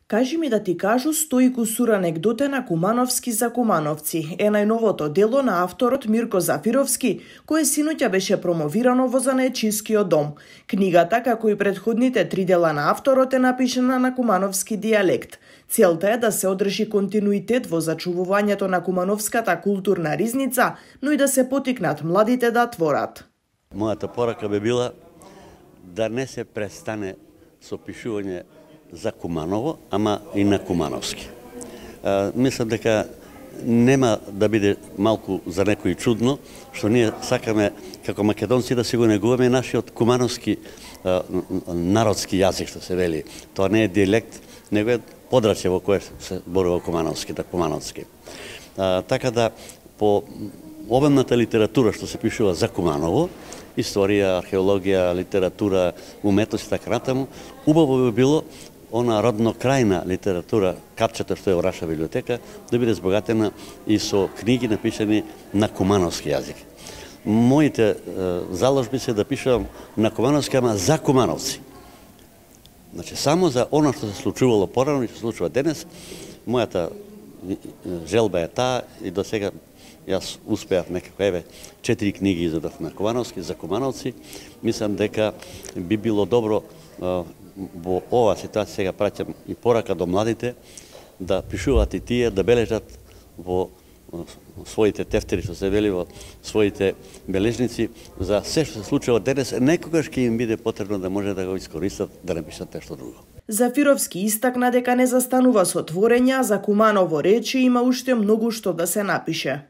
Кажи ми да ти кажу Стоику сур анегдоте на Кумановски за кумановци е најновото дело на авторот Мирко Зафировски, кое синоќа беше промовирано во Занаечискиот дом. Книгата, како и предходните 3 дела на авторот, е напишана на кумановски дијалект. Целта е да се одржи континуитет во зачувувањето на кумановската културна ризница, но и да се потикнат младите да творат. Мојата порака би била да не се престане со пишување за Куманово, ама и на кумановски. Мислам дека нема да биде малку за некој чудно, што ние сакаме како македонци да си го негуваме нашиот кумановски народски јазик, што се вели. Тоа не е дијалект, него е подрачје во кое се зборува кумановски, да кумановски. Така да, по обемната литература што се пишува за Куманово, историја, археологија, литература, уметност и така натаму, убаво би било она роднокрајна литература, капчето што е во Раша библиотека, да биде збогатена и со книги напишани на кумановски јазик. Моите заложби се да пишувам на кумановски, ама за кумановци. Значи, само за оно што се случувало порано и што се случува денес, мојата желба е таа и до сега јас успеав некако, 4 книги издадов на кумановски, за кумановци. Мислам дека би било добро во оваа ситуација, сега праќам и порака до младите, да пишуваат и тие, да бележат во своите тефтери, што се вели, во своите бележници, за се што се случува денес, некогаш ќе им биде потребно да може да го искористат, да напишат нешто друго. Зафировски истакна дека не застанува со творења, за Куманово рече има уште многу што да се напише.